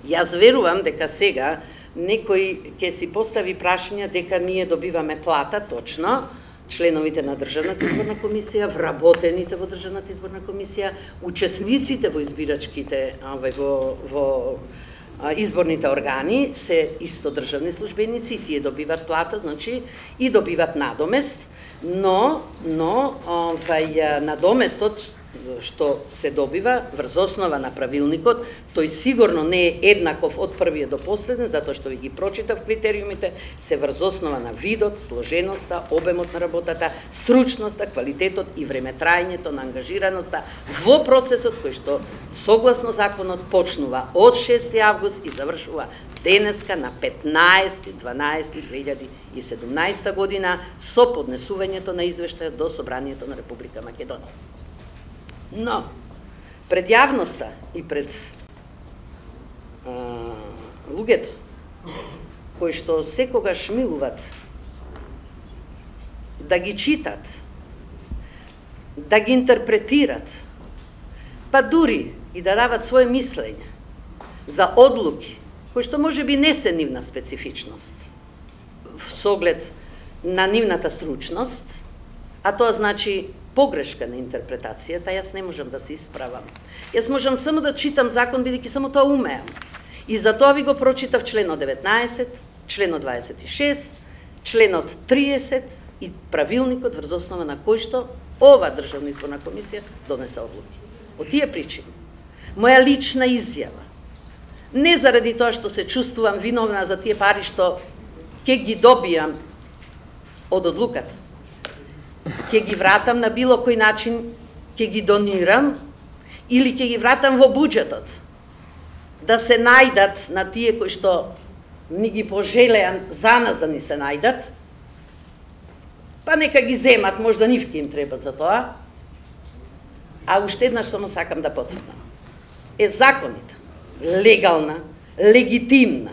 Јас верувам дека сега некој ќе си постави прашање дека ние добиваме плата, точно, членовите на Државната изборна комисија, вработените во Државната изборна комисија, учесниците во избирачките во изборните органи се исто државни службеници, тие добиват плата, значи и добиват надомест, но надоместот што се добива врз основа на правилникот, тој сигурно не е еднаков од првиот до последен, затоа што ви ги прочитав критериумите, се врз основа на видот, сложеноста, обемот на работата, стручноста, квалитетот и времетраењето на ангажираноста во процесот кој што согласно законот почнува од 6 август и завршува денеска на 15.12.2017 година со поднесувањето на извештајот до Собранието на Република Македонија. Но, пред јавноста и пред луѓето, кои што секогаш милуват да ги читат, да ги интерпретират, па дури и да дават своje мислење за одлуки, кои што може би не се нивна специфичност, со оглед на нивната стручност, а тоа значи погрешка на интерпретацијата, јас не можам да се исправам. Јас можам само да читам закон, бидејќи само тоа умеам. И затоа ви го прочитав членот 19, членот 26, членот 30 и правилникот врз основа на кој што ова Државна изборна комисија донесе одлуки. Од тие причини, моја лична изјава, не заради тоа што се чувствувам виновна за тие пари што ќе ги добијам од одлуката, ќе ги вратам на било кој начин, ќе ги донирам или ќе ги вратам во буџетот, да се најдат на тие кои што ни ги пожелеа за нас да ни се најдат, па нека ги земат, можда нивки им требат за тоа, а уште еднаш само сакам да потврдам. Законите, легална, легитимна,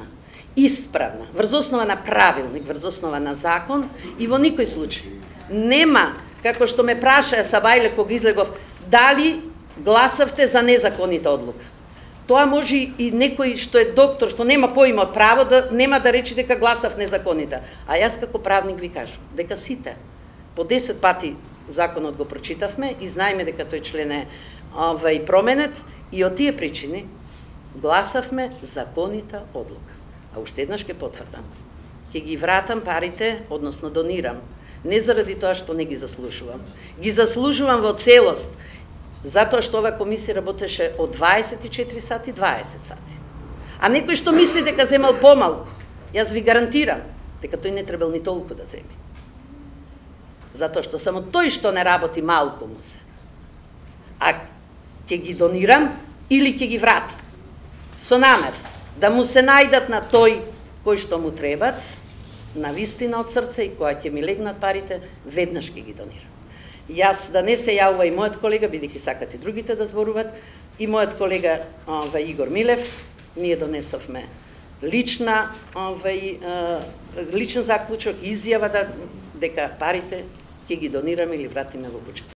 исправна, врз основа на правилник, врз основа на закон и во никој случај нема, како што ме прашаа Сабајле кога излегов, дали гласавте за незаконита одлука. Тоа може и некој што е доктор, што нема поима од право, нема да рече дека гласав незаконита. А јас како правник ви кажам, дека сите, по 10 пати законот го прочитавме и знаеме дека тој член е променет и од тие причини гласавме законита одлука. А уште еднаш ќе потврдам, ќе ги вратам парите, односно донирам, не заради тоа што не ги заслужувам. Ги заслужувам во целост, затоа што ова комисија работеше од 24 сати, 20 сати. А некој што мисли дека земал помалку, јас ви гарантирам дека тој не требал ни толку да земе. Затоа што само тој што не работи малку му се. А ќе ги донирам или ќе ги вратам. Со намер да му се најдат на тој кој што му требат, на вистина од срце и која ќе ми легнат парите, веднаш ќе ги донирам. Јас да не се јавува и мојот колега, бидејќи сакат и другите да зборуват, и мојот колега Игор Милев, ние донесовме личен заклучок, изјава дека парите ќе ги донираме или вратиме во буџетот.